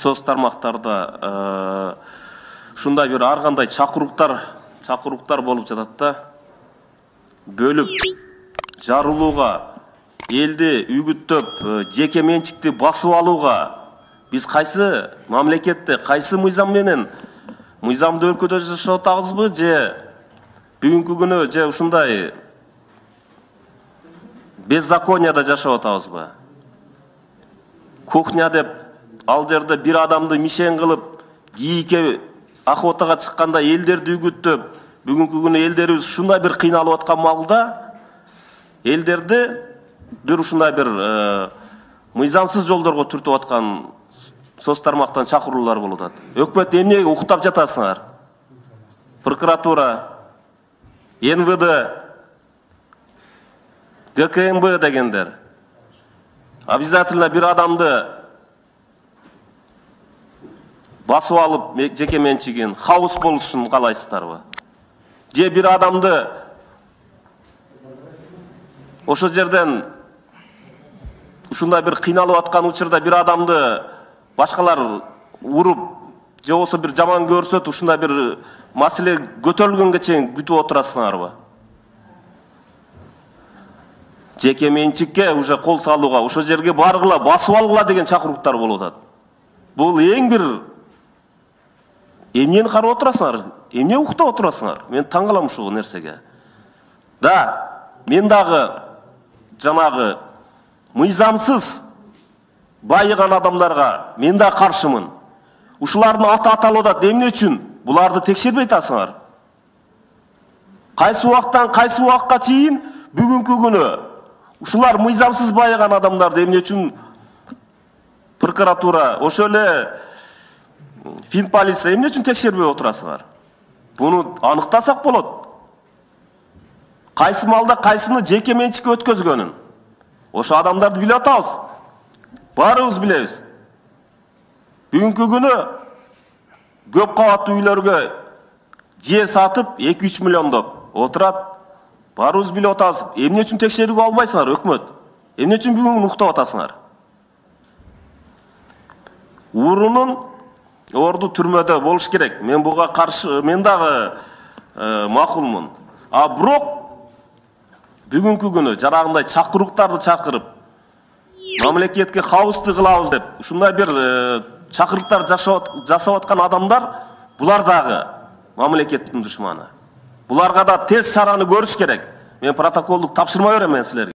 соц тармактарда ушундай бир ар кандай чакыруктар болуп жатат да. Бөлүп жарылууга, элди үгүттөп, жеке менчикти басып алууга биз кайсы мамлекетте, кайсы мыйзам менен, мыйзамдуу өлкөдө жашап атабызбы же бүгүнкү күнү же ушундай беззаконияда жашап атабызбы? Кухня деп ал жерде бир адамды мишен кылып, кийикке охотага чыкканда элдерди үгүттөп, бүгүнкү күнү элдерибиз ушундай бир кыйналып аткан маалда элдерди бир ушундай бир мыйзамсыз жолдорго түртүп аткан соц тармактан чакыруулар болуп атат. Өкмөт эмне уктап жатасыңар? Прокуратура, НВД, ГКМБ дегендер. Обязательно бир адамды басып алып жеке менчигин хаос болушун каалайсыздарбы? Же бир адамды ошол жерден ушундай бир кыйналып аткан учурда бир адамды башкалар уруп, же болбосо бир жаман көрсөт, ушундай бир маселе көтөрүлгөнгө чейин күтүп отурасыңарбы? Жеке менчикке уже кол салууга, ошол жерге баргыла, басып алгыла деген чакыруктар болуп атат. Бул эң бир эмнени карап отурасыңар? Эмне уктап отурасыңар? Мен таң калам ушул нерсеге. Да, мен дагы жанагы мыйзамсыз байыган адамдарга мен да каршымын. Ушулардын аты аталып атат. Эмне үчүн? Буларды текшербей атасыңар. Кайсы убактан кайсы убакка чейин бүгүнкү күнү ушулар мыйзамсыз байыган адамдарды эмне үчүн прокуратура, ошол эле Финполиция эмне үчүн текшербей отурасыңар? Буну аныктасак болот. Кайсы малда кайсыны жеке менчикке өткөзгөнүн ошо адамдарды билип атабыз. Баарыбыз билебиз. Бүгүнкү күнү көп кабаттуу үйлөргө жер сатып 2-3 миллиондоп отурат. Баарыбыз билип атабыз. Эмне үчүн текшерүүгө албайсыңар өкмөт? Эмне үчүн бүгүн уктап атасыңар? Урунун орду түрмөдө болуш керек. Мен буга каршы, мен дагы макулмун. А бирок бүгүнкү күнү жарагындай чакыруктарды чакырып, мамлекетке хаосты кылабыз деп, ушундай бир чакырыктар жасап аткан адамдар, булар дагы мамлекеттин душманы. Буларга да тез чараны көрүш керек. Мен протоколдук тапшырма берем мен силерге.